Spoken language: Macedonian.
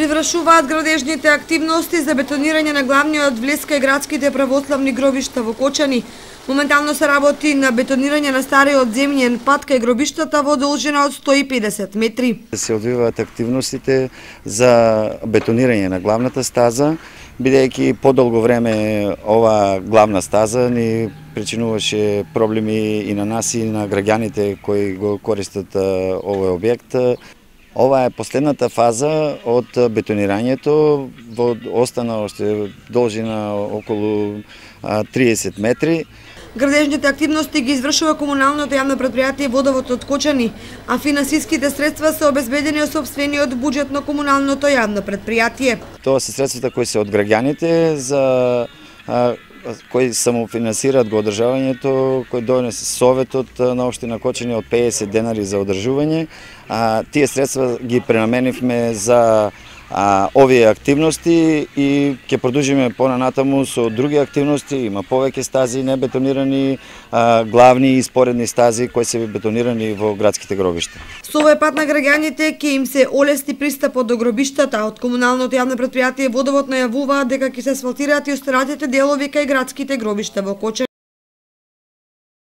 Привршуваат градежните активности за бетонирање на главниот влеска и градските православни гробишта во Кочани. Моментално се работи на бетонирање на стариот земјен пат кај гробиштата во должина од 150 метри. Се одвиваат активностите за бетонирање на главната стаза, бидејќи подолго време ова главна стаза ни причинуваше проблеми и на нас и на граѓаните кои го користат овој објект. Ова е последната фаза од бетонирањето, остана уште должина околу 30 метри. Градежните активности ги извршува комуналното јавно предпријатие Водовод од Кочани, а финансиските средства се обезбедени од сопствениот буџет на комуналното јавно предпријатие. Тоа се средствата кои се од граѓаните кои самофинансираат го одржавањето, кои донесе Советот на општина Кочани од 50 денари за одржување. Тие средства ги пренаменивме за овие активности и ќе продолжиме понатаму со други активности. Има повеќе стази небетонирани, главни и споредни стази кои се бетонирани во градските гробишта. Со овој пат на граѓаните ќе им се олести пристапот до гробиштата. Од комуналното јавно предпријатие Водовод најавуваат дека ќе се асфалтираат и останатите делови кај градските гробишта во Кочани.